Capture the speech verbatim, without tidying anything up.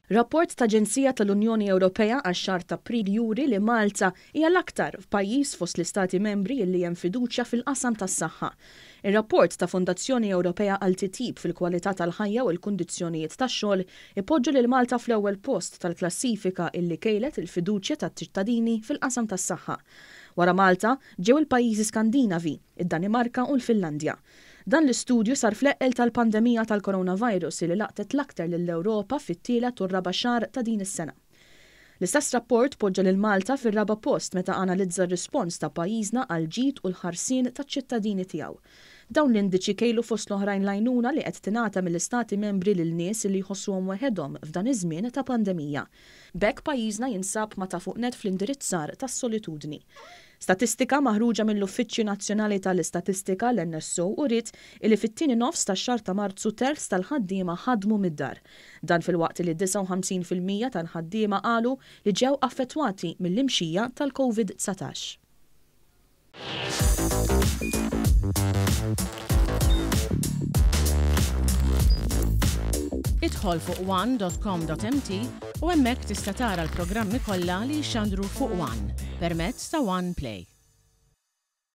Rapport ta' Aġenzija tal-Unjoni Ewropea għax-xahar ta' April juri li Malta hija l-aktar pajjiż fost l-istati membri li hemm fiduċja fil-qasam tas-saħħa. Ir-rapport ta' Fondazzjoni Ewropea għal titjib fil-kwalità tal-ħajja u l-kundizzjonijiet tax-xogħol ipoġġu lil Malta fl-ewwel post tal-klassifika illi kejlet il-fiduċja tat-ċittadini fil-qasam tas-saħħa. Wara Malta ġew il-pajjiżi Skandinavi, id-Danimarka u l-Finlandja. Dan l-istudju sar fl-eqqel tal-pandemija tal-coronavirus li laqtet l-aktar lill-Ewropa fit-tielet u r-raba' xahar ta' din is-sena. L-istess rapport poġġa lil Malta fir-raba' post meta analizza r-rispons ta' pajjiżna għal ġid u l-ħarsien taċ-ċittadini tiegħu. Dawn l-indiċi kejlu fost l-oħrajn l-għajnuna li qed tingħata mill-istati membri lil nies li jħossuhom waħedhom f'dan iż-żmien ta' pandemija. B'hekk pajjiżna jinsab ma' ta' fuq net fl-indirizzar tas-solitudni. Statistika maħruġa mill-Uffiċċju Nazzjonali tal-Istatistika, l-N S O, uriet li fit-tieni nofs tax-xahar ta' Marzu terz tal-ħaddiema ħadmu mid-dar. Dan filwaqt li disgħa u ħamsin fil-mija tal-ħaddiema qalu li ġew affettwati mill-imxija tal-Covid dsatax. Idħol fuq one dot com dot M T u hemmhekk tista' tara l-programmi kollha li jxandru fuq One permezz ta' One Play.